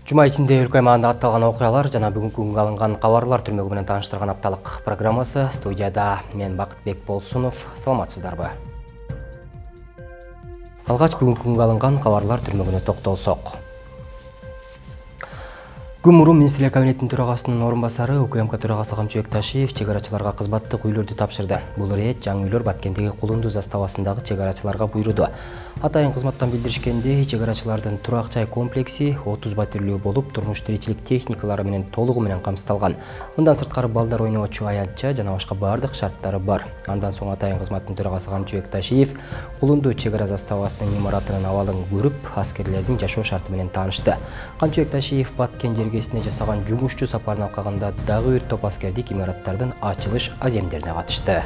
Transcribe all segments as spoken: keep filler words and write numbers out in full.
Жума ичинде өлкө аймагында атталган окуялар жана бүгүнкү күнгө алынган кабарлар түрмөгү менен тааныштырган апталык программасы. Студияда мен Бакытбек Болсунов. Саламатсыздарбы? Алгач бүгүнкү күнгө алынган кабарлар түрмөгүнө токтолсок. Күн мурун Министрлер кабинетинин төрагасынын орун басары УКМК төрагасы Камчыбек Ташиев чек арачыларга кызматтык үйлөрдү тапшырды. Бул ирет жаңы үйлөр Баткендеги Кулунду заставасындагы чек арачыларга буйруду. Атайын кызматтан билдиришкендей, чек арачылардын турак жай комплекси отуз батирлүү болуп, турмуш тиричилик техникалары менен толугу менен камсыздалган. Мындан сырткары балдар ойноочу аянтча жана башка бардык шарттары бар. Андан соң атайын кызматтын төрагасы Камчыбек Ташиев Кулунду чек ара заставасынын имаратынын абалын көрүп, аскерлердин жашоо шарты менен таанышты. Камчыбек Ташиев Баткен жергесине жасаган жумушчу сапарын алкагында дагы бир топ аскердик имараттардын ачылыш аземдерине катышты.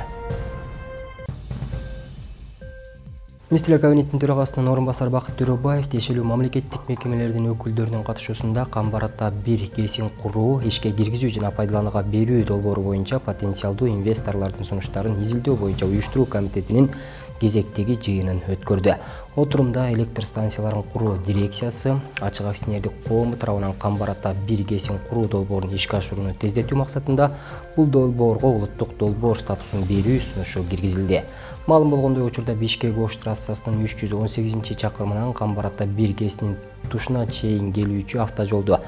Министрлер кабинетинин төрагасынын орун басары Бакыт Төрөбаев тиешелүү мамлекеттик мекемелердин өкүлдөрүнүн катышуусунда Камбарата бир кесин куруу, ишке киргизүү жана пайдаланууга берүү долбоору боюнча потенциалдуу инвесторлордун сунуштарын изилдөө боюнча уюштуруу комитетинин кезектеги жыйынын өткөрдү. Отурумда электр станцияларын куруу дирекциясы ачык акционердик коому тарабынан Камбарата бир кесин куруу долбоорун ишке ашырууну тездетүү максатында бул долбоорго улуттук долбоор статусун берүү сунушу киргизилди. Маалым болгондой, учурда Бишкек-Ош трассасынын үч жүз он сегизинчи чакырымынан Камбарата бир кесинин тушуна чейин келүүчү автожолду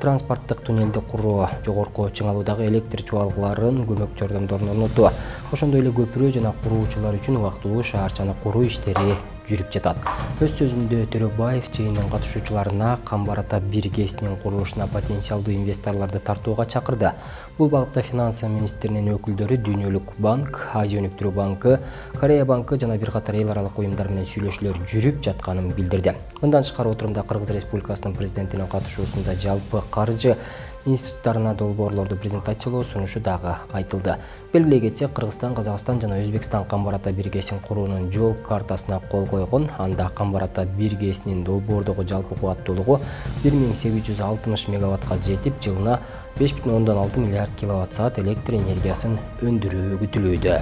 транспорттук туннелди куруу, жогорку чыңалуудагы электр чуалгыларын көмөк жардамдарын орнотуу, ошондой эле көпүрө жана куруучулар үчүн убактылуу шаарчаны куруу иштери жүрүп жатат. Өз сөзүндө Төрөбаев жыйындын катышуучуларына Камбарата бир кесинин курулушуна потенциалдуу инвесторлорду тартууга чакырды. Бул багытта финансы министринин өкүлдөрү Дүйнөлүк банк, Азия өнүктүрүү банкы, Корея банкы жана бир катар эл аралык уюмдар менен сүйлөшүүлөр жүрүп жатканын билдирди. Мындан тышкары отурумда Кыргыз Республикасынын президентинин катышуусунда жалпы каржы институттарына долбоорлорду презентациялоо сунушу дагы айтылды. Белгилей кетсек, Кыргызстан, Казакстан жана Өзбекстан Камбарата бир кесин куруунун жол картасына кол койгон. Анда Камбарата бир кесинин долбоордогу жалпы кубаттуулугу бир миң сегиз жүз алтымыш мегаваттка жетип, жылына беш бүтүн ондон алты миллиард киловатт саат электр энергиясын өндүрүү күтүлүүдө.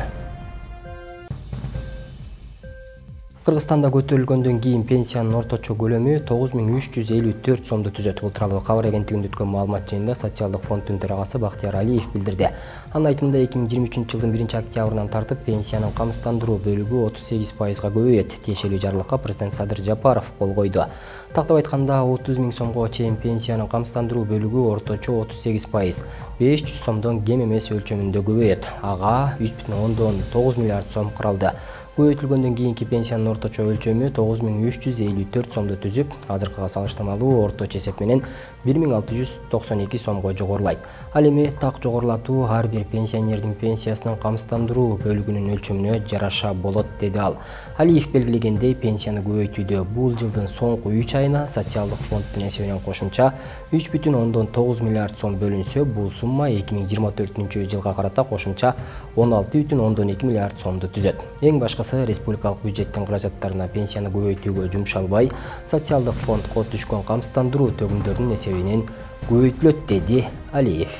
Кыргызстанда көтөрүлгөндөн кийин пенсиянын орточо көлөмү тогуз миң үч жүз элүү төрт сомду түзөт. Бул тууралуу Кабар агенттигинде өткөн маалымат жыйынында социалдык фонддун төрагасы Бактияр Алиев билдирди. Анын айтымында эки миң жыйырма үчүнчү жылдын биринчи октябрынан тартып пенсиянын камсыздандыруу бөлүгү отуз сегиз пайызга көбөйөт. Тиешелүү жарлыкка президент Садыр Жапаров кол койду. Тактап айтканда, отуз миң сомго чейин пенсиянын камсыздандыруу бөлүгү орточо отуз сегиз пайыз, беш жүз сомдон кем эмес өлчөмүндө көбөйөт. Ага үч бүтүн ондон тогуз миллиард сом каралды. Көбөйтүлгөндөн кийинки пенсиянын орточо өлчөмү тогуз миң үч жүз элүү төрт сомду түзүп, азыркыга салыштырмалуу орточо эсеп менен бир миң алты жүз токсон эки сомго жогорулайт. Ал эми так жогорулатуу ар бир пенсионердин пенсиясынын камсыздандыруу бөлүгүнүн өлчөмүнө жараша болот, деди ал. Алиев белгилегендей, пенсияны көбөйтүүдө бул жылдын соңку үч айына социалдык фонддун эсебинен кошумча үч бүтүн ондон тогуз миллиард сом бөлүнсө, бул сумма эки миң жыйырма төртүнчү жылга карата кошумча он алты бүтүн ондон эки миллиард сомду түзөт. Эң башкысы республикалык бюджеттин каражаттарына пенсияны көбөйтүүгө жумшалбай, социалдык фондко түшкөн камсыздандыруу төгүмдөрүнүн эсебинен көбөйтүлөт, деди Алиев.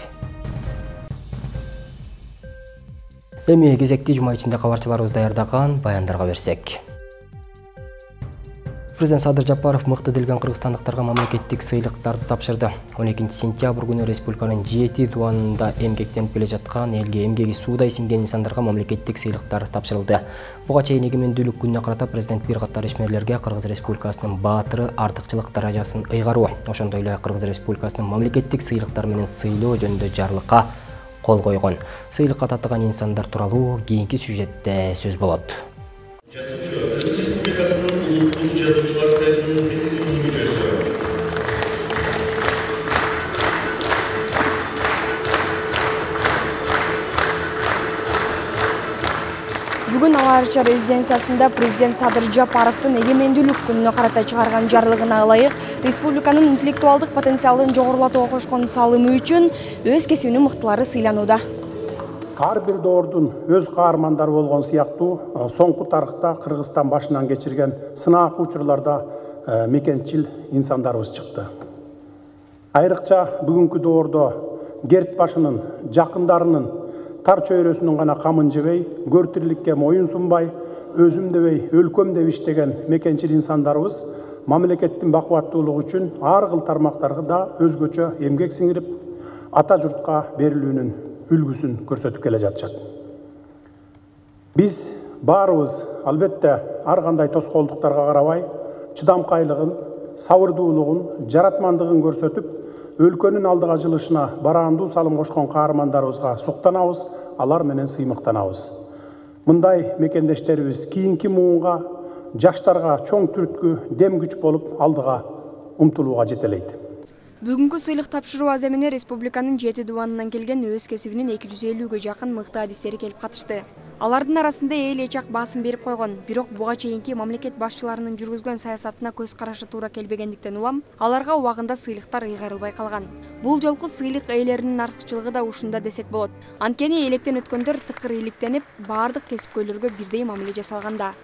Эми кезекти жума ичинде кабарчыларыбыз даярдаган баяндарга берсек. Президент Садыр Жапаров мыкты делген кыргызстандыктарга мамлекеттик сыйлыктарды тапшырды. он экинчи сентябрь күнү республиканын жети тубанында эмгектенип келе жаткан, элге эмгеги суудай сиңген инсандарга мамлекеттик сыйлыктар тапшырылды. Буга чейин эгемендүүлүк күнүнө карата президент бир катар ишмерлерге Кыргыз Республикасынын баатыры артыкчылык даражасын ыйгаруу, ошондой эле Кыргыз Республикасынын мамлекеттик сыйлыктар менен сыйлоо жөнүндө жарлыкка кол койгон. Сыйлыкка татыган инсандар тууралуу кийинки сюжетте сөз болот. Бүгүн Ала Арча резиденциясында президент Садыр Жапаровдун эгемендүүлүк күнүнө карата чыгарган жарлыгына ылайык республиканын интеллектуалдык потенциалын жогорулатууга кошкон салымы үчүн өз кесибинин мыктылары сыйланууда. Ар бир доордун өз каармандары болгон сыяктуу соңку тарыхта Кыргызстан башынан кечирген сынаак учурларда мекенчил инсандарыбыз чыкты. Айрыкча бүгүнкү доордо керт башынын, жакындарынын, тар чөйрөсүнүн гана камын жебей, көртүрлүккө моюн сунбай, өзүм дебей, өлкөм деп иштеген мекенчил инсандарыбыз мамлекеттин бакубаттуулугу үчүн ар кыл тармактарга да өзгөчө эмгек сиңирип, ата журтка берилүүнүн үлгүсүн көрсөтүп келе жатышат. Биз баарыбыз албетте ар кандай тоскоолдуктарга карабай, чыдамкайлыгын, сабырдуулугун, жаратмандыгын көрсөтүп, өлкөнүн алдыга жылышына бараандуу салым кошкон каармандарыбызга суктанабыз, алар менен сыймыктанабыз. Мындай мекендештерибиз кийинки муунга, жаштарга чоң түрткү, дем күч болуп алдыга умтулууга жетелейт. Бүгүнкү сыйлык тапшыруу аземине республиканын жети дубанынан келген өз кесибинин эки жүз элүүгө жакын мыкты адистери келип катышты. Алардын арасында эл эчак басым берип койгон, бирок буга чейинки мамлекет башчыларынын жүргүзгөн саясатына көз карашы туура келбегендиктен улам аларга убагында сыйлыктар ыйгарылбай калган. Бул жолку сыйлык ээлеринин артыкчылыгы да ушунда десек болот. Анткени электен өткөндөр тыкыр иликтенип, баардык кесипкөйлөргө бирдей мамиле жасалганда.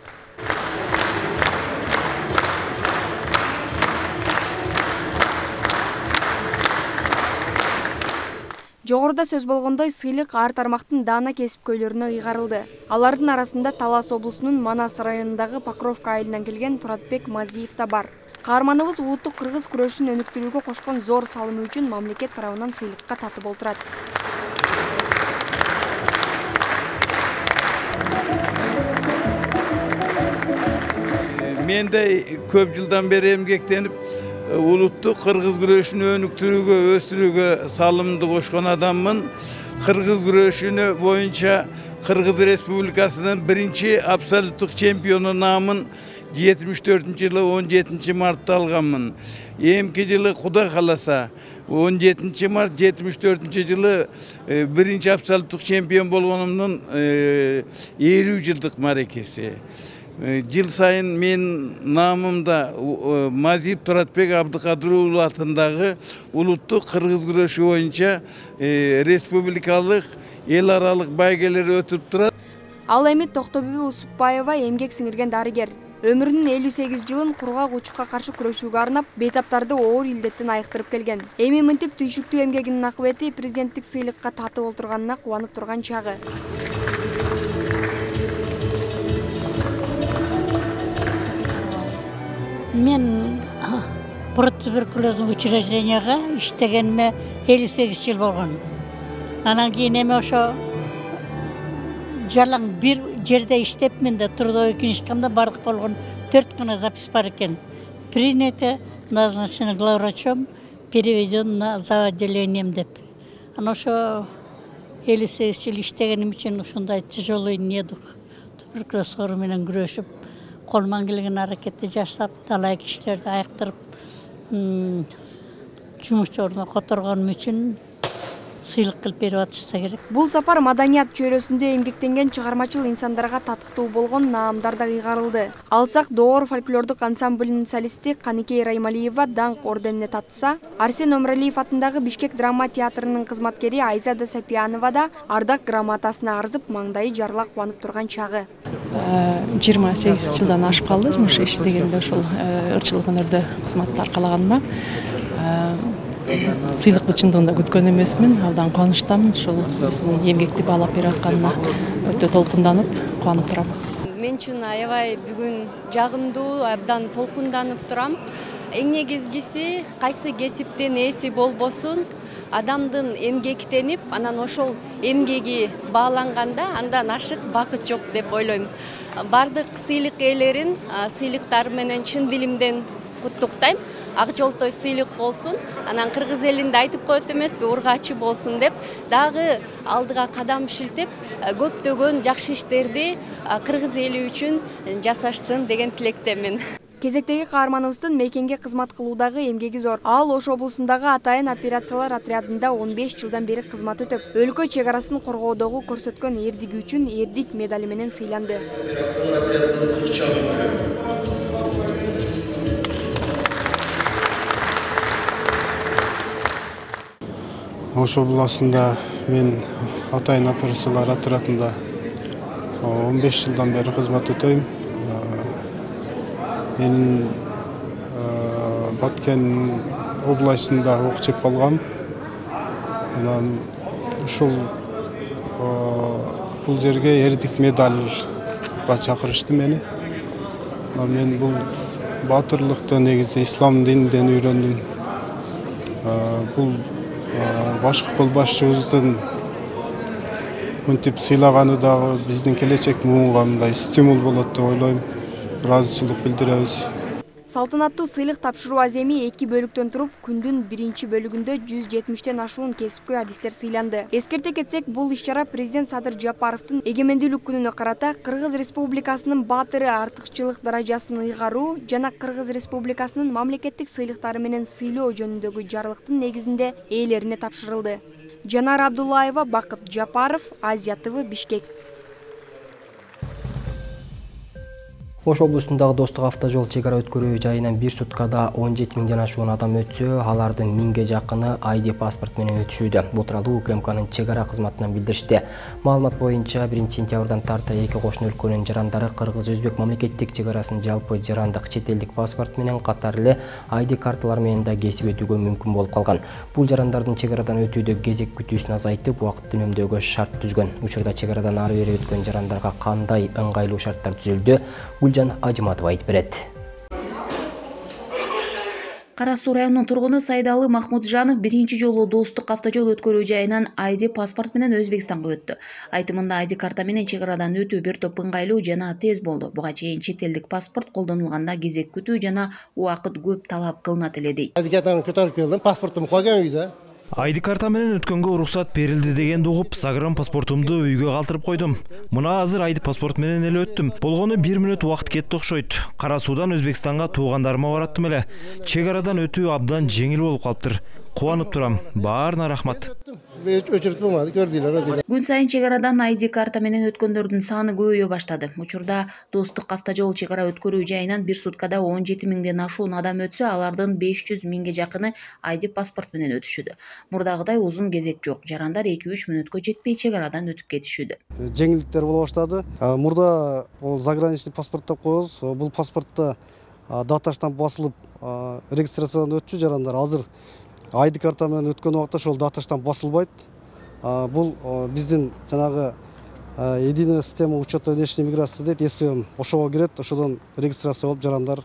Жогоруда сөз болгондой, сыйлык ар тармактын даана кесипкөйлөрүнө ыйгарылды. Алардын арасында Талас облусунун Манас районундагы Покровка айылынан келген Туратбек Мазиев да бар. Каарманыбыз улуттук кыргыз күрөшүн өнүктүрүүгө кошкон зор салымы үчүн мамлекет тарабынан сыйлыкка татып олтурат. Мен де көп жылдан бери эмгектенип, улуттук кыргыз күрөшүн өнүктүрүүгө, өстүрүүгө салымды кошкон адаммын. Кыргыз күрөшүнө боюнча Кыргыз Республикасынын биринчи абсолюттук чемпиону наамын жетимиш төртүнчү жылы он жетинчи мартта алганмын. Эмки жылы Кудай кааласа он жетинчи март жетимиш төртүнчү жылы биринчи абсолюттук чемпион болгонумдун элүү жылдык марекеси. Жыл сайын мен наамымда Мазиев Туратбек Абдыкадыр уулу атындагы улуттук кыргыз күрөшү боюнча республикалык эл аралык байгелер өтүп турат. Ал эми Токтобүбү Усупбаева эмгек сиңирген дарыгер. Өмүрүнүн элүү сегиз жылын кургак учукка каршы күрөшүүгө арнап, бейтаптарды оор илдеттен айыктырып келген. Эми мынтип түйшүктүү эмгегинин акыбети президенттик сыйлыкка татып олтурганына кубанып турган чагы. Мен протуберкулездің учрежденияға иштегениме элүү сегиз жыл болгон. Анан кийин эми ошо жалаң бир жерде иштеп, менде трудовой книжкамда бардык болгон төрт гана запись бар экен. Принято, назначено главврачом, переведен на зав. Отделением деп. Анан ошо элүү сегиз жыл иштегеним үчүн ушундай тяжелый недуг, туберкулез оору менен күрөшүп, колуман келген аракетти жасап, талай кишилерди айыктырып, жумуш ордуна которгонум үчүн сыйлык кылып берип атышса керек. Бул сапар маданият чөйрөсүндө эмгектенген чыгармачыл инсандарга татыктуу болгон наамдар да ыйгарылды. Алсак Доор фольклордук ансамблинин солисти Каныкей Раймалиева даңк орденине татса, Арсен Омралиев атындагы Бишкек драма театрынын кызматкери Айзада Сапиянова да ардак грамотасына арзып, маңдайы жарыла кубанып турган чагы. жыйырма сегиз жылдан ашып калды жумуш иштегенде ушул ырчылык өнөрдө кызматты аркалаганыма. Сыйлыкты чындыгында күткөн эмесмин, абдан кубанычтамын. Ушул биздин эмгекти баалап берип атканына өтө толкунданып, кубанып турам. Мен үчүн аябай бүгүн жагымдуу, абдан толкунданып турам. Эң негизгиси кайсы кесиптин ээси болбосун, адамдын эмгектенип, анан ошол эмгеги бааланганда андан ашык бакыт жок деп ойлойм. Бардык сыйлык ээлерин сыйлыктары менен чын дилимден куттуктайм. Ак жолтой сыйлык болсун, анан кыргыз элинде айтып коет эмеспи, ургачы болсун деп, дагы алдыга кадам шилтеп, көптөгөн жакшы иштерди кыргыз эли үчүн жасашсын деген тилектемин. Кезектеги каарманыбыздын мекенге кызмат кылуудагы эмгеги зор. Ал Ош облусундагы атайын операциялар отрядында он беш жылдан бери кызмат өтөп, өлкө чек арасын коргоодогу көрсөткөн эрдиги үчүн эрдик медали менен сыйланды. Ош областында мен атайын операциялар отрядында он беш жылдан бeri кызмат өтөйм. Мен Баткен областында ок жеп калгам. Анан ушул бул жерге эрдик медальга чакырышты мени. Мен бул баатырлыкты негизи ислам дининен үйрөндүм. Бул башкы кол башчыбыздын мынтип сыйлаганы дагы биздин келечек муунга мындай стимул болот деп ойлойм. Ыраазычылык билдиребиз. Салтанаттуу сыйлык тапшыруу аземи эки бөлүктөн туруп, күндүн биринчи бөлүгүндө жүз жетимиштен ашуун кесипкөй адистер сыйланды. Эскерте кетсек, бул иш-чара президент Садыр Жапаровдун эгемендүүлүк күнүнө карата Кыргыз Республикасынын баатыры артыкчылык даражасын ыйгаруу жана Кыргыз Республикасынын мамлекеттик сыйлыктары менен сыйлоо жөнүндөгү жарлыктын негизинде ээлерине тапшырылды. Жанара Абдуллаева, Бакыт Жапаров, Азия тэ вэ, Бишкек. Ош облусундагы Достук автожол чек ара өткөрүү жайынан бир суткада он жети миңден ашуун адам өтсө, алардын миңге жакыны ай ди паспорт менен өтүшүүдө. Бул тууралуу У К М К'нын чек ара кызматынан билдиришти. Маалымат боюнча биринчи сентябрдан тарта эки кошуна өлкөнүн жарандары Кыргыз-Өзбек мамлекеттик чек арасын жалпы жарандык чет элдик паспорт менен катар эле ай ди карталар менен да кесип өтүүгө мүмкүн болуп калган. Бул жарандардын чек арадан өтүүдө кезек күтүүсүн азайтып, убакыт үнөмдөөгө шарт түзгөн. Учурда чек арадан ары бери өткөн жарандарга кандай ыңгайлуу шарттар түзүлдү? Гүлжан Ажыматова айтып берет. Кара Суу районунун тургуну Сайдалы Махмуджанов биринчи жолу Достук автожол өткөрүү жайынан ай ди паспорт менен Өзбекстанга өттү. Айтымында ай ди карта менен чек арадан өтүү бир топ ыңгайлуу жана тез болду. Буга чейин чет элдик паспорт колдонулганда кезек күтүү жана убакыт көп талап кылынат эле дейт. ай ди картаны көтөрүп келдим, паспортум койгон үйдө. ай ди карта менен өткөнгө уруксат берилди дегенди угуп, загран паспортумду үйгө калтырып койдум. Мына азыр ай ди паспорт менен эле өттүм. Болгону бир мүнөт убакыт кетти окшойт. Кара Суудан Өзбекстанга туугандарыма бараттым эле. Чек арадан өтүү абдан жеңил болуп калыптыр. Кубанып турам. Баарына рахмат. Өчүрүп болмады, көрдүлөр өзү. Күн сайын чек арадан ай ди карта менен өткөндөрдүн саны көбөйө баштады. Учурда Достук автожол чек ара өткөрүү жайынан бир суткада он жети миңден ашуун адам өтсө, алардын беш жүз миңге жакыны ай ди паспорт менен өтүшүүдө. Мурдагыдай узун кезек жок. Жарандар эки үч мүнөткө жетпей чек арадан өтүп кетишүүдө. Жеңилдиктер боло баштады. Мурда ол заграничный паспорт деп коебуз. Бул паспортто дата штамп басылып регистрациядан өтчү жарандар. Азыр ай ди карта менен өткөн убакта ошол дата штамп басылбайт. Бул биздин жанагы единая система учета внешней миграции дейт, эс эм ошого кирет, ошодон регистрация болуп жарандар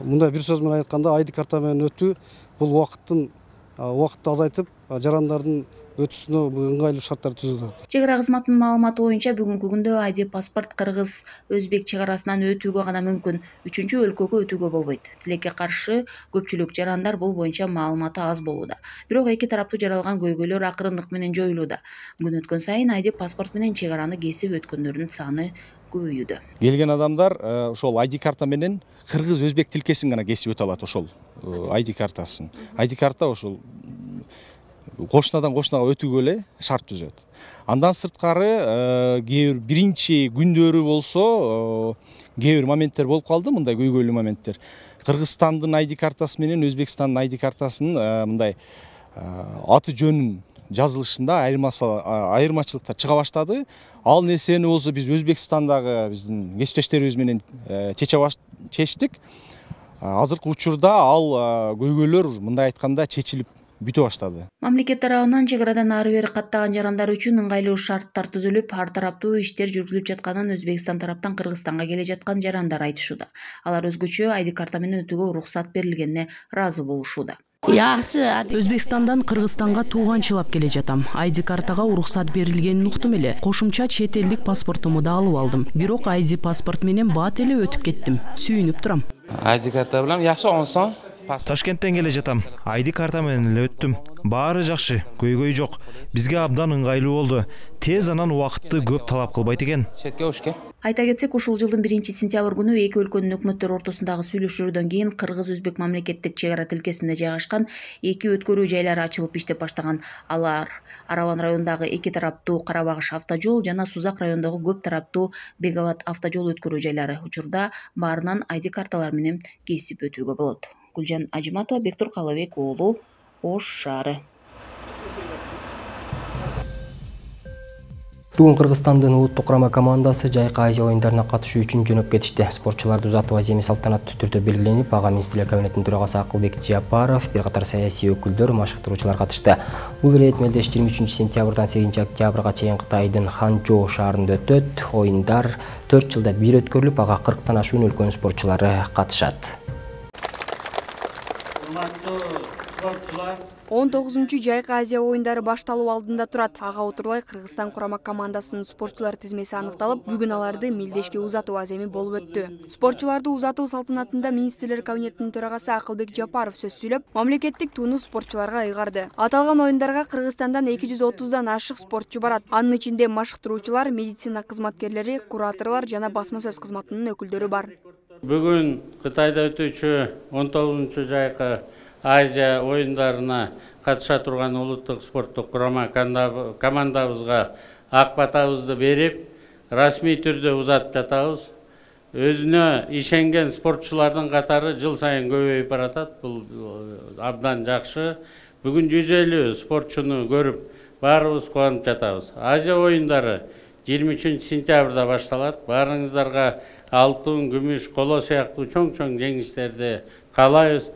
мындай бир сөз менен айтканда ай ди карта менен өтүү бул убакыттын убакытты азайтып жарандардын өтүшүнө ыңгайлуу шарттар түзүлөт. Чек ара кызматынын маалыматы боюнча бүгүнкү күндө ай ди паспорт Кыргыз Өзбек чек арасынан өтүүгө гана мүмкүн, үчүнчү өлкөгө өтүүгө болбойт. Тилекке каршы көпчүлүк жарандар бул боюнча маалыматы аз болууда. Бирок эки тараптуу жаралган көйгөйлөр акырындык менен жоюлууда. Күн өткөн сайын ай ди паспорт менен чек араны кесип өткөндөрдүн саны көбөйүүдө. Келген адамдар ошол ай ди карта менен Кыргыз Өзбек тилкесин гана кесип өтө алат, ошол ай ди картасын. ай ди карта ошол кошунадан кошунага өтүүгө эле шарт түзөт. Андан сырткары кээ бир биринчи күндөрү болсо кээ бир моменттер болуп калды, мындай көйгөйлүү моменттер. Кыргызстандын ай ди картасы менен Өзбекстандын ай ди картасынын мындай аты жөнүн жазылышында айырмачылыктар чыга баштады. Ал нерсени болсо биз Өзбекстандагы биздин кесиптештерибиз менен чечтик. Азыркы учурда ал көйгөйлөр мындай айтканда чечилип бүтө баштады. Мамлекет тарабынан чек арадан ары бери каттаган жарандар үчүн ыңгайлуу шарттар түзүлүп, ар тараптуу иштер жүргүзүлүп жатканын Өзбекстан тараптан Кыргызстанга келе жаткан жарандар айтышууда. Алар өзгөчө ай ди карта менен өтүүгө уруксат берилгенине ыраазы болушууда. Өзбекстандан Кыргызстанга тууганчылап келе жатам. ай ди картага уруксат берилгенин уктум эле. Кошумча чет элдик паспортумду да алып алдым. Бирок ай ди паспорт менен бат эле өтүп кеттим. Сүйүнүп турам. ай ди карта менен жакшы онсон. Ташкенттен келе жатам. ай ди карта менен эле өттүм. Баары жакшы, көйгөй жок. Бизге абдан ыңгайлуу болду. Тез анан убакытты көп талап кылбайт экен. Айта кетсек, ушул жылдын биринчи сентябрь күнү эки өлкөнүн өкмөттөрү ортосундагы сүйлөшүүлөрдөн кийин Кыргыз-Өзбек мамлекеттик чек ара тилкесинде жайгашкан эки өткөрүү жайлары ачылып иштеп баштаган. Алар Араван районундагы эки тараптуу Карабагыш автожол жана Сузак районундагы көп тараптуу Беговат автожол өткөрүү жайлары. Учурда баарынан ай ди карталар менен кесип өтүүгө болот. Гүлжан Ажыматова, Бектур Калыбек уулу, Ош шаары. Бүгүн Кыргызстандын улуттук курама командасы Жайкы Азия оюндарына катышуу үчүн жөнөп кетишти. Спортчуларды узатуу аземи салтанаттуу түрдө белгиленип, ага Министрлер кабинетинин төрагасы Акылбек Жапаров, бир катар саясий өкүлдөр, маштыктыруучулар катышты. Бул ирет мелдеш жыйырма үчүнчү сентябрдан сегизинчи октябрга чейин Кытайдын Ханчжоу шаарында өтөт. Оюндар төрт жылда бир өткөрүлүп, ага кырктан ашуун өлкөнүн спортчулары катышат. он тогузунчу Жайкы Азия оюндары башталуу алдында турат. Ага отурлай Кыргызстан курама командасынын спортчулар тизмеси аныкталып, бүгүн аларды мелдешке узатуу аземи болуп өттү. Спортчуларды узатуу салтанатында Министрлер кабинетинин төрагасы Акылбек Жапаров сөз сүйлөп, мамлекеттик туunu спортчуларга ыйгарды. Аталган оюндарга Кыргызстандан эки жүз отуздан ашык спортчу барат. Анын ичинде маштыктыруучулар, медицина кызматкерлери, кураторлор жана басма сөз кызматынын өкүлдөрү бар. Бүгүн Кытайда өтүүчү он тогузунчу Жайкы Азия оюндарына катыша турган улуттук спорттук курама командабызга ак батабызды берип, расмий түрдө узатып жатабыз. Өзүнө ишенген спортчулардын катары жыл сайын көбөйүп баратат. Бул абдан жакшы. Бүгүн жүз элүү спортчуну көрүп, баарыбыз кубанып жатабыз. Азия оюндары жыйырма үчүнчү сентябрда башталат. Баарыңыздарга алтын, күмүш, коло сыяктуу чоң-чоң жеңиштерди каалайбыз.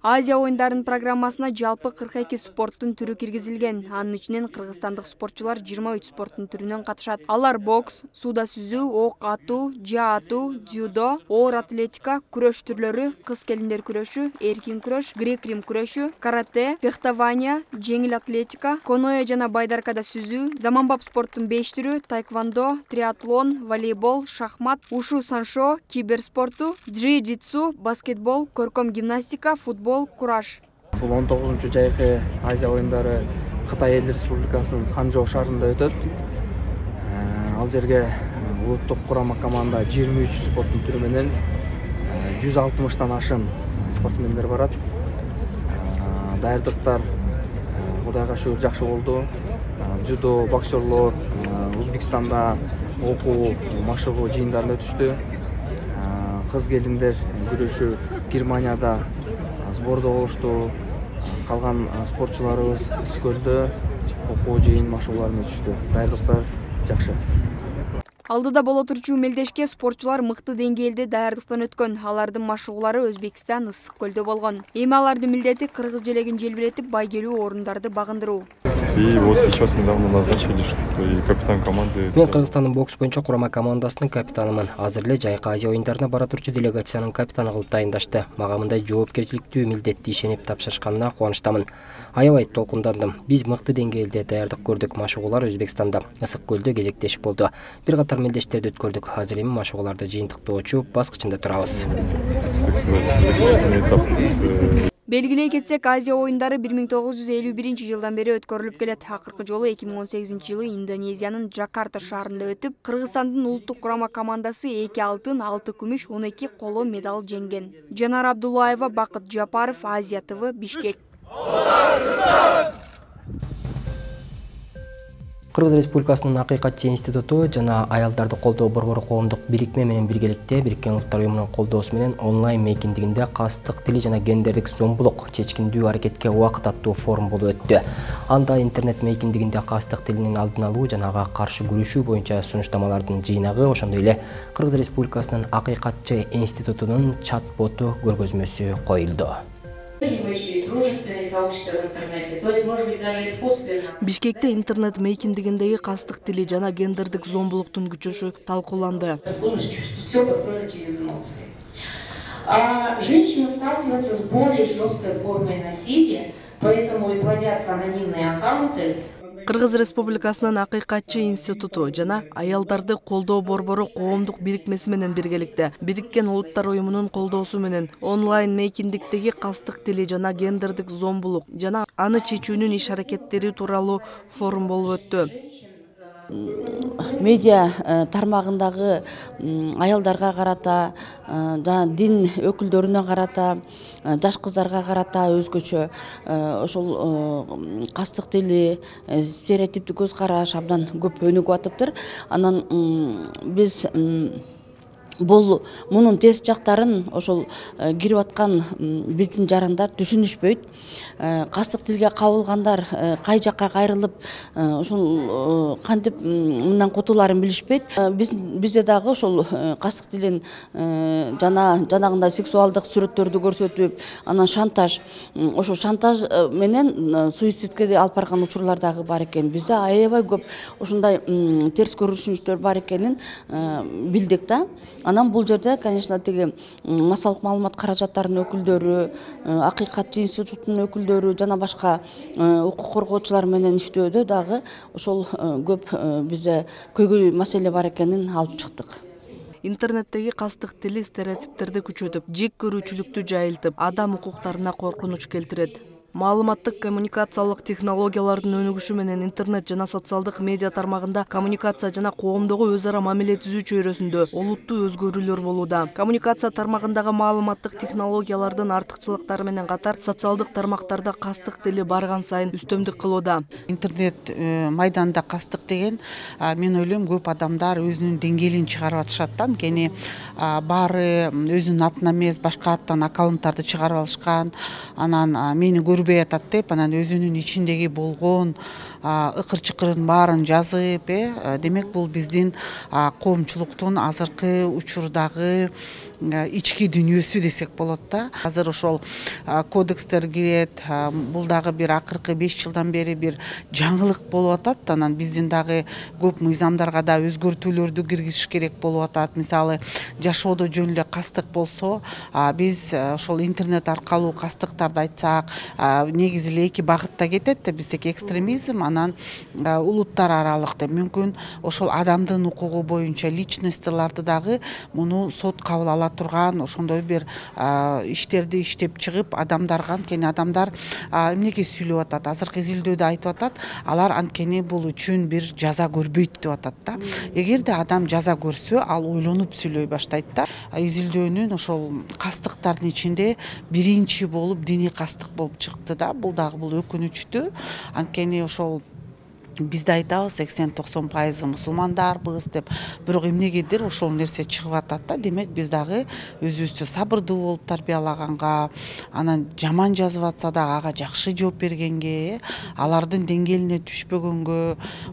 Азия оюндарынын программасына жалпы кырк эки спорттун түрү киргизилген. Анын ичинен кыргызстандык спортчулар жыйырма үч спорттун түрүнөн катышат. Алар бокс, сууда сүзүү, ок атуу, жаа атуу, дзюдо, оор атлетика, күрөш түрлөрү, кыз келиндер күрөшү, эркин күрөш, грек-рим күрөшү, карате, фехтование, жеңил атлетика, коноэ жана байдаркада сүзүү, заманбап спорттун беш түрү, тайквондо, триатлон, волейбол, шахмат, ушу саншо, киберспорту, джиу-джитсу, баскетбол, көркөм гимнастика, футбол, кураш. Бул он тогузунчу Жайкы Азия оюндары Кытай Эл Республикасынын Ханчжоу шаарында өтөт. Ал жерге улуттук курама команда жыйырма үч спорттун түрү менен жүз алтымыштан ашык спортсмендер барат. Даярдыктар Кудайга шүгүр жакшы болду. Жудо боксерлор Өзбекстанда окуу, машыгуу жыйындарын өтүштү. Кыз келиндер күрөшү Германияда сбордо болушту. Калган спортчуларыбыз Искөлдө окуу жыйын машыгууларын өтүштү. Даярдыктар жакшы. Алдыда боло турчу мелдешке спортчулар мыкты деңгээлде даярдыктан өткөн. Алардын машыгуулары Өзбекстан Ысык көлдө болгон. Эми алардын милдети кыргыз желегин желбиретип, байгелүү орундарды багындыруу. И вот сейчас недавно назначили, что и капитан команды. Мен Кыргызстандын бокс боюнча курама командасынын капитанымын. Азыр эле Жайкы Азия оюндарына бара турчу делегациянын капитаны кылып дайындашты. Мага мындай жоопкерчиликтүү милдетти ишенип тапшырышканына кубанычтамын. Аябай толкундандым. Биз мыкты деңгээлде даярдык көрдүк. Машыгуулар Өзбекстанда, Ысык көлдө кезектешип болду. Бир катар мелдештерди өткөрдүк. Азыр эми машыгууларды жыйынтыктоочу баскычында турабыз. Белгилей кетсек, Азия оюндары бир миң тогуз жүз элүү биринчи жылдан бери өткөрүлүп келет. Акыркы жолу эки миң он сегизинчи жылы Индонезиянын Джакарта шаарында өтүп, Кыргызстандын улуттук курама командасы эки алтын, алты күмүш, он эки коло медаль жеңген. Жанар Абдуллаева, Бакыт Жапаров, Азия ТВ, Бишкек. Кыргыз Республикасынын Акыйкатчы институту жана аялдарды колдоо борбору коомдук бирикме менен биргеликте Бириккен Улуттар уюмунун колдоосу менен онлайн мейкиндигинде кастык тили жана гендердик зомбулук чечкиндүү аракетке убакыт аттуу форум болуп өттү. Анда интернет мейкиндигинде кастык тилинин алдын алуу жана ага каршы күрөшүү боюнча сунуштамалардын жыйнагы, ошондой эле Кыргыз Республикасынын Акыйкатчы институтунун чат-боту көргөзмөсү коюлду. Бишкекте интернет мейкиндигиндеги кастык тили жана гендердик зомбулуктун күчөшү талкууланды. Женщины сталкиваются с более жесткой формой насилия, поэтому и плодятся анонимные аккаунты. Кыргыз Республикасынын Акыйкатчы институту жана аялдарды колдоо борбору коомдук бирикмеси менен биргеликте Бириккен Улуттар уюмунун колдоосу менен онлайн мейкиндиктеги кастык тили жана гендердик зомбулук жана аны чечүүнүн иш аракеттери тууралуу форум болуп өттү. Медиа тармагындагы аялдарга карата, жана дин өкүлдөрүнө карата, жаш кыздарга карата өзгөчө ошол кастык тили, стереотиптик көз караш абдан көп өнүгүп атыптыр. Анан биз бул мунун терс жактарын ошол кирип аткан биздин жарандар түшүнүшпөйт. Кастык тилге кабылгандар кай жакка кайрылып ошол кантип мындан кутулаарын билишпейт. Бизде дагы ошол кастык тилин жана жанагындай сексуалдык сүрөттөрдү көрсөтүп, анан шантаж, ошо шантаж менен суицидке алып барган учурлар дагы бар экен. Бизде аябай көп ушундай терс көрүнүштөр бар экенин билдик да. Анан бул жерде, конечно, тиги массалык маалымат каражаттарынын өкүлдөрү, Акыйкатчы институтунун өкүлдөрү жана башка укук коргоочулар менен иштөөдө дагы ошол көп бизде көйгөй маселе бар экенин алып чыктык. Интернеттеги кастык тили стереотиптерди күчөтүп, жек көрүүчүлүктү жайылтып, адам укуктарына коркунуч келтирет. Маалыматтык коммуникациялык технологиялардын өнүгүшү менен интернет жана социалдык медиа тармагында коммуникация жана коомдогу өз ара мамиле түзүү чөйрөсүндө олуттуу өзгөрүүлөр болууда. Коммуникация тармагындагы маалыматтык технологиялардын артыкчылыктары менен катар социалдык тармактарда кастык тили барган сайын үстөмдүк кылууда. Интернет майданда кастык деген, мен ойлойм, көп адамдар өзүнүн деңгээлин чыгарып атышат да. Анткени баары өзүнүн атынан эмес, башка аттан аккаунттарды чыгарып алышкан. Анан мени көрбөй атат деп, анан өзүнүн ичиндеги болгон ыкыр-чыкырын баарын жазып, демек бул биздин коомчулуктун азыркы учурдагы ички дүйнөсү десек болот да. Азыр ошол кодекстер кирет, бул дагы бир акыркы беш жылдан бери бир жаңылык болуп атат. Анан биздин дагы көп мыйзамдарга да өзгөртүүлөрдү киргизиш керек болуп атат. Мисалы, жашоодо жөн эле кастык болсо, биз ошол интернет аркылуу кастыктарды айтсак, негизи эле эки багытта кетет да. Биздеки экстремизм, анан улуттар аралык деп. Мүмкүн ошол адамдын укугу боюнча личностьларды дагы муну сот кабыл ала турган ошондой бир иштерди иштеп чыгып, адамдарга, анткени адамдар эмнеге сүйлөп атат, азыркы изилдөөдө айтып атат, алар анткени бул үчүн бир жаза көрбөйт деп атат да. Эгерде адам жаза көрсө, ал ойлонуп сүйлөй баштайт да. Изилдөөнүн ошол кастыктардын ичинде биринчи болуп диний кастык болуп чыкты да. Бул дагы бул өкүнүчтүү. Анткени ошол бизде айтабыз сексен токсон пайызы мусулмандарбыз деп, бирок эмнегедир ошол нерсе чыгып атат да. Демек биз дагы өзүбүздү сабырдуу болуп тарбиялаганга, анан жаман жазып атса дагы ага жакшы жооп бергенге, алардын деңгээлине түшпөгөнгө,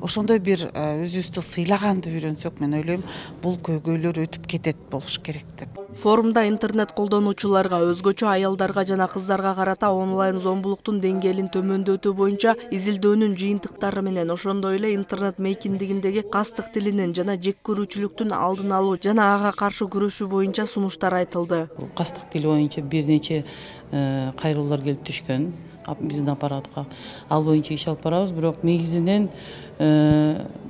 ошондой бир өзүбүздү сыйлаганды үйрөнсөк, мен ойлойм, бул көйгөйлөр өтүп кетет болуш керек деп. Форумда интернет колдонуучуларга, өзгөчө аялдарга жана кыздарга карата онлайн зомбулуктун деңгээлин төмөндөтүү боюнча изилдөөнүн жыйынтыктары менен, ошондой эле интернет мейкиндигиндеги кастык тилинин жана жек көрүүчүлүктүн алдын алуу жана ага каршы күрөшүү боюнча сунуштар айтылды. Кастык тили боюнча бир нече кайрылуулар келип түшкөн биздин аппаратка. Ал боюнча иш алып барабыз, бирок негизинен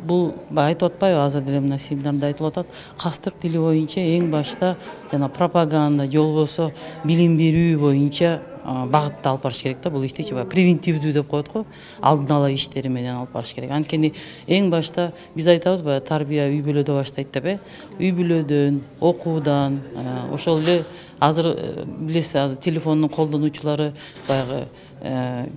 бул айтып атпайбы, азыр деле мына семинарда айтылып атат, кастык тили боюнча эң башта жана пропаганда же болбосо билим берүү боюнча багытты алып барыш керек да. Бул иштечи превентивдүү деп коет го, алдын ала иштери менен алып барыш керек. Анткени эң башта биз айтабыз, баягы тарбия үй бүлөдө баштайт деп, э үй бүлөдөн, окуудан, ошол эле азыр билесиз, азыр телефондун колдонуучулары баягы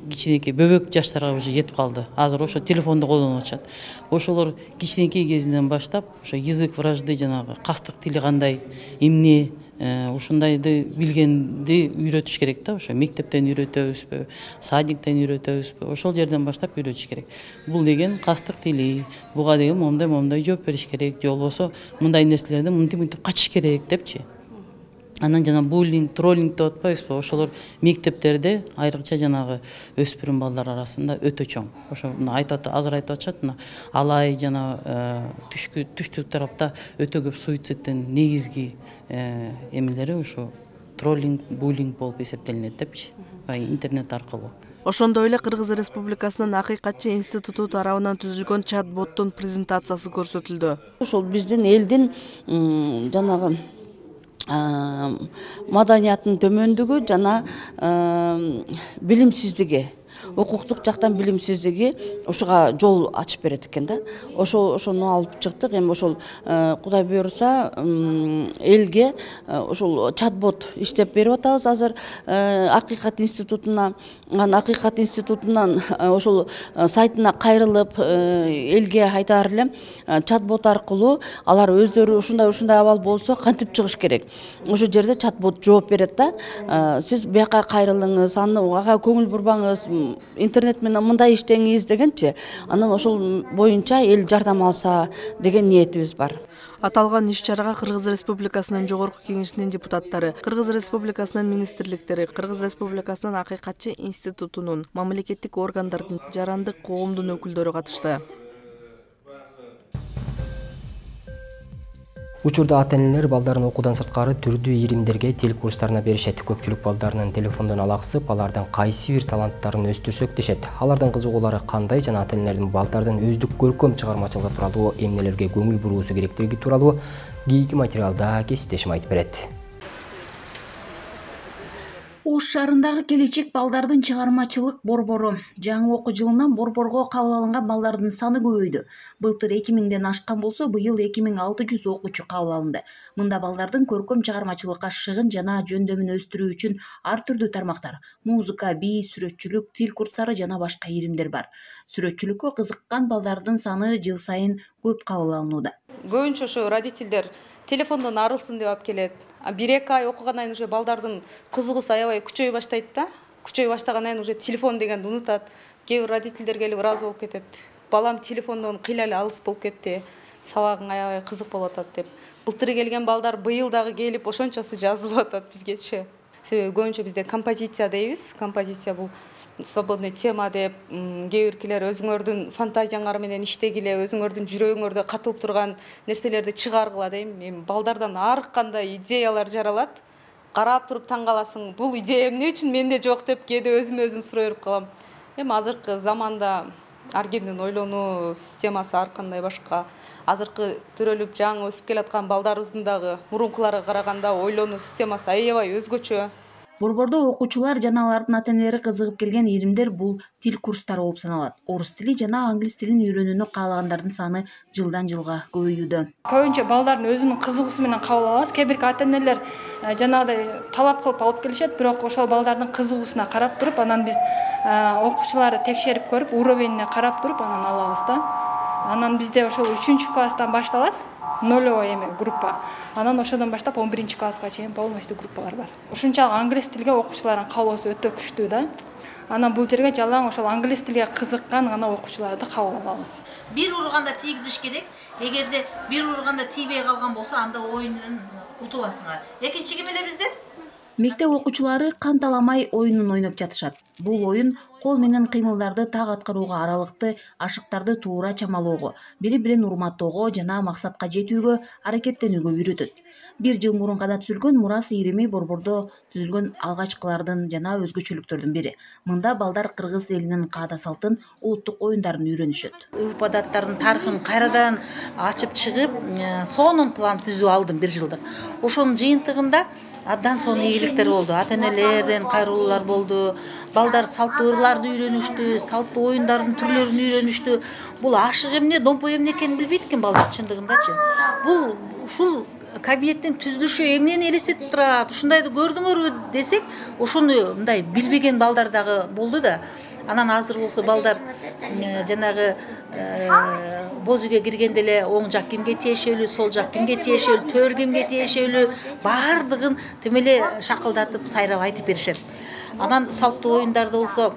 кичинекей бөбөк жаштарга уже жетип калды. Азыр ошо телефонду колдонуп атышат. Ошолор кичинекей кезинен баштап ошо язык вражды, жанагы кастык тили кандай, эмне, ушундайды билгенди үйрөтүш керек да. Ошо мектептен үйрөтөбүзбү, садиктен үйрөтөбүзбү, ошол жерден баштап үйрөтүш керек. Бул деген кастык тили, буга деген момундай момундай жооп бериш керек, же болбосо мындай нерселерден мынтип мынтип качыш керек депчи. Анан жана буллинг, троллинг деп атпайбызбы, ошолор мектептерде айрыкча жанагы өспүрүм балдар арасында өтө чоң. Ошо айтат, азыр айтып атышат, мына алай жана түшкү түштүк тарапта өтө көп суицидтин негизги эмелери ошо троллинг, буллинг болуп эсептелинет депчи, интернет аркылуу. Ошондой эле Кыргыз Республикасынын Акыйкатчы институту тарабынан түзүлгөн чат-боттун презентациясы көрсөтүлдү. Ошол биздин элдин жанагы маданиятынын төмөндүгү жана билимсиздиги, укуктук жактан билимсиздиги ушуга жол ачып берет экен да. Ошо ошону алып чыктык. Эми ошол Кудай буюрса элге ошол чат-бот иштеп берип атабыз азыр Акыйкат институтуна. Анан Акыйкат институтунан ошол сайтына кайрылып элге айтаар элем, чат-бот аркылуу алар өздөрү ушундай ушундай абал болсо кантип чыгыш керек. Ошол жерде чат-бот жооп берет да. Сиз бияка кайрылыңыз, ага көңүл бурбаңыз, интернет менен мындай иштеңиз дегенчи. Анан ошол боюнча эл жардам алса деген ниетибиз бар. Аталган иш-чарага Кыргыз Республикасынын Жогорку Кеңешинин депутаттары, Кыргыз Республикасынын министрликтери, Кыргыз Республикасынын Акыйкатчы институтунун, мамлекеттик органдардын, жарандык коомдун өкүлдөрү катышты. Учурда ата-энелер балдарын окуудан сырткары түрдүү иримдерге тил курстарына беришет. Көпчүлүк балдарынын телефондон алаксып, алардын кайсы бир таланттарын өстүрсөк дешет. Алардын кызыгуулары кандай жана ата-энелердин балдардын өздүк көркөм чыгармачылыгы тууралуу эмнелерге көңүл буруусу керектиги тууралуу кийинки материалда кесиптешим айтып берет. Ош шаарындагы келечек балдардын чыгармачылык борбору. Жаңы окуу жылынан борборго кабыл алынган балдардын саны көбөйдү. Былтыр эки миңден ашкан болсо, быйыл эки миң алты жүз окуучу кабыл алынды. Мында балдардын көркөм чыгармачылыкка шыгын жана жөндөмүн өстүрүү үчүн ар түрдүү тармактар — музыка, бий, сүрөтчүлүк, тил курстары жана башка иримдер бар. Сүрөтчүлүккө кызыккан балдардын саны жыл сайын көп кабыл алынууда. Көбүнчө ошо родителдер телефондон арылсын деп алып келет. бир-эки ай окугандан кийин уже балдардын кызыгуусу аябай күчөй баштайт да. Күчөй баштагандан кийин уже телефон дегенди унутат. Кээ бир родителдер келип ыраазы болуп кетет. Балам телефондон кыйла эле алыс болуп кетти. Сабагың аябай кызык болуп атат деп. Былтыр келген балдар быйыл дагы келип ошончосу жазылып атат бизгечи. Себеби көбүнчө бизде композиция дейбиз. Композиция бул свободный тема деп, кээ биркилер өзүңөрдүн фантазияңар менен иштегиле, өзүңөрдүн жүрөгүңөрдө катылып турган нерселерди чыгаргыла дейм. Эми балдардан ар кандай идеялар жаралат. Карап туруп таң каласың, бул идея эмне үчүн менде жок деп кээде өзүмө өзүм сурай берип калам. Эми азыркы заманда ар кимдин ойлонуу системасы ар кандай башка. Азыркы төрөлүп жаңы өсүп келаткан балдарыбыздын дагы мурункуларга караганда ойлонуу системасы аябай өзгөчө. Борбордо окуучулар жана алардын ата-энелери кызыгып келген иримдер бул тил курстары болуп саналат. Орус тили жана англис тилин үйрөнүүнү каалагандардын саны жылдан жылга көбөйүүдө. Көбүнчө балдардын өзүнүн кызыгуусу менен кабыл алабыз. Кээ бирки ата-энелер жанагыдай талап кылып алып келишет, бирок ошол балдардын кызыгуусуна карап туруп, анан биз окуучуларды текшерип көрүп, уровенине карап туруп анан алабыз да. Анан бизде ошол үчүнчү класстан башталат. Нолевой эме группа. Анан ошодон баштап он биринчи класска чейин полностью группалар бар. Ушунчалык англис тилге окуучулардын кабылуусу өтө күчтүү да. Анан бул жерге жалаң ошол англис тилге кызыккан гана окуучуларды кабыл алабыз. Бир урганда тийгизиш керек. Эгерде бир урганда тийбей калган болсо, анда оюндан утуласыңар. Экинчи ким эле бизде? Мектеп окуучулары канталамай оюнун ойноп жатышат. Бул оюн кол менен кыймылдарды так аткарууга, аралыкты, ашыктарды туура чамалоого, бири-бирин урматтоого жана максатка жетүүгө аракеттенүүгө үйрөтөт. Бир жыл мурун гана түзүлгөн Мурас ирими борбордо түзүлгөн алгачкылардын жана өзгөчөлүктөрдүн бири. Мында балдар кыргыз элинин каада салтын, улуттук оюндарын үйрөнүшөт. Урп адаттардын тарыхын кайрадан ачып чыгып, сонун план түзүп алдым бир жылдык. Ошонун жыйынтыгында абдан сонун ийгиликтер болду. Ата-энелерден кайрылуулар болду. Балдар салттуу ырларды үйрөнүштү, салттуу оюндардын түрлөрүн үйрөнүштү. Бул ашык эмне, домпой эмне экенин билбейт экен балдар чындыгындачы. Бул ушул кабинеттин түзүлүшү эмнени элестетип турат, ушундайды көрдүңөрбү десек, ошону мындай билбеген балдар дагы болду да. Анан азыр болсо балдар жанагы боз үйгө киргенде эле оң жак кимге тиешелүү, сол жак кимге тиешелүү, төр кимге тиешелүү баардыгын тим эле шакылдатып, сайрап айтып беришет. Анан салттуу оюндарда болсо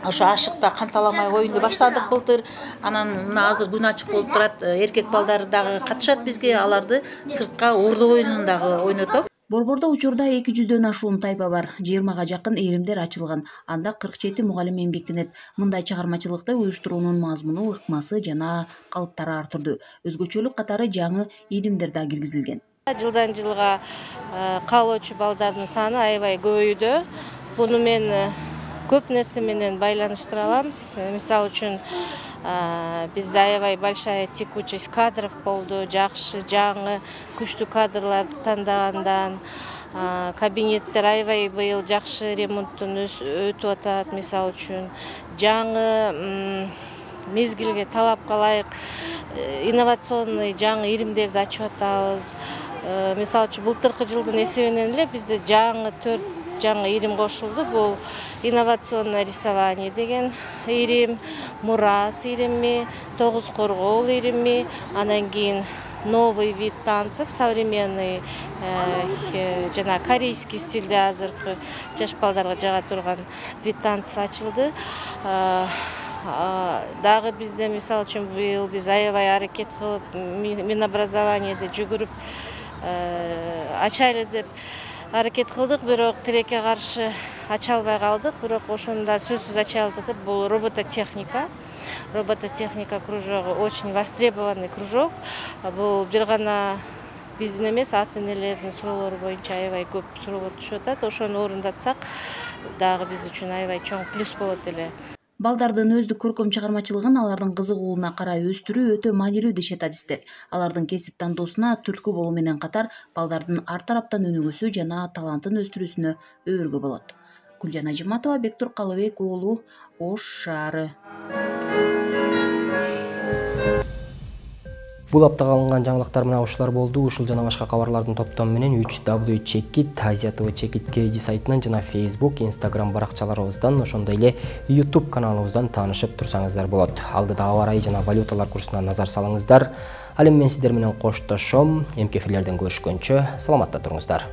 ошо ашыкта канталамай оюнду баштадык былтыр. Анан мына азыр күн ачык болуп турат, эркек балдар дагы катышат бизге, аларды сыртка ордо оюнун дагы ойнотоп. Борбордо учурда эки жүздөн ашуун тайпа бар. жыйырмага жакын иримдер ачылган. Анда кырк жети мугалим эмгектенет. Мындай чыгармачылыкты уюштуруунун мазмуну, ыкмасы жана калыптары ар түрдүү. Өзгөчөлүк катары жаңы иримдер да киргизилген. Жылдан жылга кабылуучу балдардын саны аябай көбөйдү. Буну мен көп нерсе менен байланыштыра аламыз. Мисалы үчүн бизде аябай большая текучесть кадров болду, жакшы, жаңы, күчтүү кадрларды тандагандан. кабинеттер аябай быйыл жакшы ремонттон өтүп атат. Мисалы үчүн жаңы мезгилге талапка ылайык инновационный жаңы иримдерди ачып атабыз. Мисалы үчүн былтыркы жылдын эсебинен эле бизде жаңы төрт жаңы ирим кошулду. Бул инновационное рисование деген ирим, Мурас ирими, Тогуз Коргоол ирими, анан кийин новый вид танцев, современный, жана корейский стилде азыркы жаш балдарга жага турган вид танцев ачылды. Дагы бизде мисалы үчүн быйыл биз аябай аракет кылып Минобразованияда жүгүрүп ачайлы деп аракет кылдык, бирок тилекке каршы ача албай калдык. Бирок ошондо сөзсүз ачалып атат. Бул робототехника. Робототехника кружогу очень востребованный кружок. Бул бир гана биздин эмес, ата-энелердин суроолору боюнча аябай көп суроолор түшүп атат. Ошону орундатсак, дагы биз үчүн аябай чоң плюс болот эле. Балдардын өздүк көркөм чыгармачылыгын алардын кызыгуулуна карай өстүрүү өтө маанилүү дешет адистер. Алардын кесип тандоосуна түрткү болуу менен катар балдардын ар тараптан өнүгүүсү жана талантын өстүрүүсүнө өбөлгө болот. Гүлжан Ажиматова, Бектур Калыбек уулу, Ош шаары. Бул аптага алынган жаңылыктар мына ушулар болду. Ушул жана башка кабарлардын топтому менен үч дабл ю чекит Азия ТВ Чекит Кеди сайтынан жана Facebook, Instagram баракчаларыбыздан, ошондой эле YouTube каналыбыздан таанышып турсаңыздар болот. Алдыда аба ырайы жана валюталар курсуна назар салыңыздар. Ал эми мен сиздер менен коштошом. Эмки эфирлерден көрүшкөнчө саламатта туруңуздар.